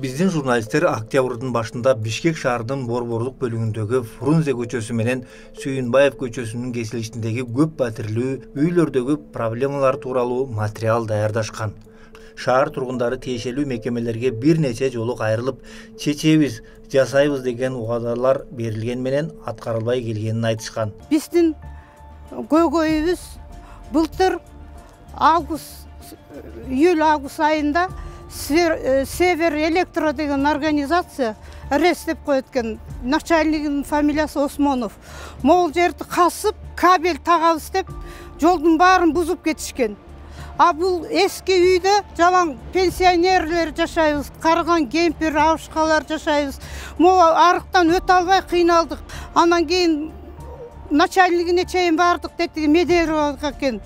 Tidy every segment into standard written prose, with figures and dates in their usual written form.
Биздин журналисттер октябрдын башында Бишкек шаарынын борборлук бөлүгүндөгү Фрунзе көчөсү менен Сүйүнбаев көчөсүнүн кесилишиндеги көп батирлүү үйлөрдөгү проблемалар тууралуу материал даярдашкан. Шаар тургундары тиешелүү мекемелерге бир нече жолу кайрылып, чечебиз, жасайбыз деген убадалар берилген менен аткарылбай келгенин айтышкан. Биздин көйгөйүбүз былтыр июль-август айында Север Электро деген организация РЭС деп коет экен. Начальнигинин фамилиясы Осмонов. Могул жерди касып, кабель тагабыз деп, жолдун баарын бузуп кетишкен. А бул эски үйдө жалаң пенсионерлер жашайбыз, карыган кемпир, абышкалар жашайбыз. Могу арыктан өтө албай кыйналдык. Анан кийин начальнигине чейин бардык деди, Медеровага экен.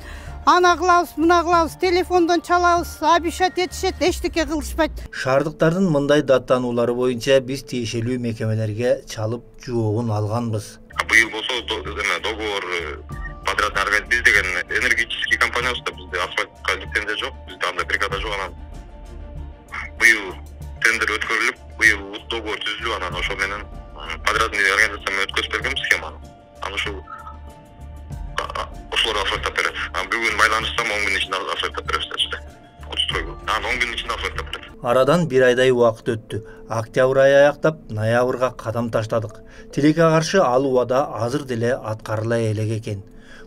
Ана кылабыз, мына кылабыз, телефондон чалабыз, обещать этишет, эчтеке кылышпайт. Шаардыктардын мындай даттануулары боюнча биз тиешелүү мекемелерге чалып жообун алганбыз. Быйыл болсо договор подрядный организация биз деген энергетический компаниясында бизде асфальтка лицензия жок, бизде андай бригада жок. Анан быйыл тендер өткөрүлүп, быйыл договор түзүлүп, анан ошол менен подрядный организация менен өткөзүп бергенбиз схеманы. Анан ошолор асфальттап берет. Бүгүн байланышсам 10 күн ичинде асфальттап беребиз дешти. Кутстройго. 10 күн ичинде асфальттап берет. Арадан бир айдай убакыт өттү. Октябрь айы аяктап, ноябрга кадам таштадык. Тилекке каршы ал убада азыр деле аткарыла элек экен.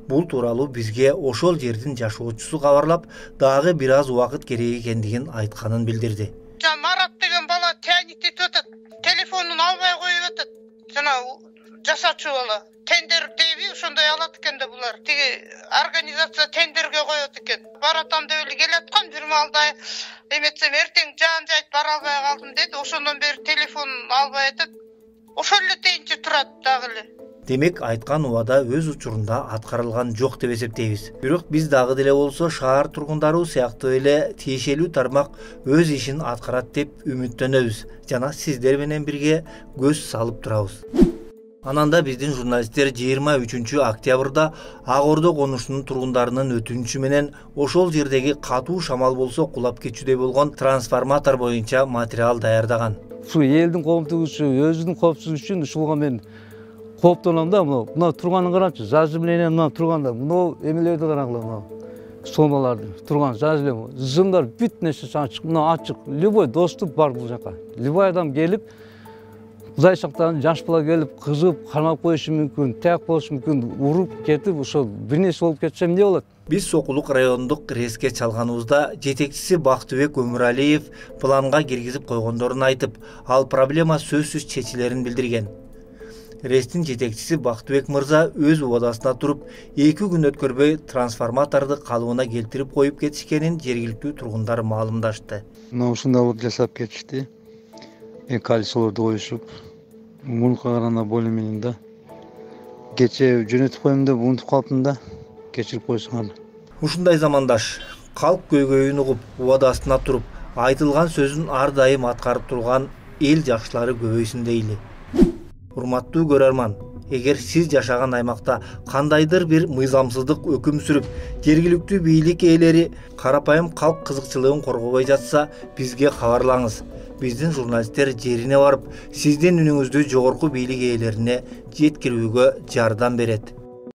Бул тууралуу бизге ошол жердин жашоочусу кабарлап, дагы бир аз убакыт керек экендигин айтканын билдирди. Марат деген бала тянитип атат. Телефонун албай коюп атат. Жана жасачу бала. Тендер дейби, ошондой алат экен да булар. Тиги организация тендерге коет экен. Баратам деп эле келаткан, бир маалда эметсем эртең жаан жайт бара албай калдым деди. Ошондон бери телефонун албай атат. Ошол эле тейинче турат дагы эле. Демек айткан убада өз учурунда аткарылган жок деп эсептейбиз. Бирок биз дагы деле болсо шаар тургундары сыяктуу эле тиешелүү тармак өз ишин аткарат деп үмүттөнөбүз жана сиздер менен бирге көз салып турабыз. Ананда биздин журналисттер 23 октябрда Ак Ордо конушунун тургундарынын өтүнүчү менен ошол жердеги катуу шамал болсо кулап кетүүдөй болгон трансформатор боюнча материал даярдаган. Ушу элдин коомдугу үчүн, өзүнүн коопсуздугу үчүн ушуга мен кооптоном да. Мына турганын карачы, зажимление мына турганда, мына эмелерди карагыла, мына соноларды турган зажимление. Жымдар бүт нерсе ачык, мына ачык. Любой доступ бар бул жака. Любой адам келип Кудай шактан жаш бала келип, кызып, кармап коюшу мүмкүн, таяк болушу мүмкүн, уруп кетип, ошол бир нерсе болуп кетсе эмне болот? Биз Сокулук райондук РЭСке чалганыбызда жетекчиси Бактыбек Өмүралиев планга киргизип койгондорун айтып, ал проблема сөзсүз чечилерин билдирген. РЭСтин жетекчиси Бактыбек мырза өз убадасына туруп, 2 күн өткөрбөй трансформаторду калыбына келтирип коюп кетишкенин жергиликтүү тургундар маалымдашты. Мына ушундай болуп жасап кетишти. Калисолорду коюшуп, мурунка караганда более менен да. Кече жөнөтүп коем деп унутуп калыптым да, кечирип койсуңар. Ушундай замандаш, калк көйгөйүн угуп, убадасына туруп, айтылган сөзүн ар дайым аткарып турган эл жакшылары көбөйсүн дейли. Урматтуу көрөрман, эгер сиз жашаган аймакта кандайдыр бир мыйзамсыздык өкүм сүрүп, жергиликтүү бийлик ээлери карапайым калк кызыкчылыгын коргобой жатса, бизге кабарлаңыз. Биздин журналисттер жерине барып, сиздин үнүңүздү жогорку бийлик ээлерине жеткирүүгө жардам берет.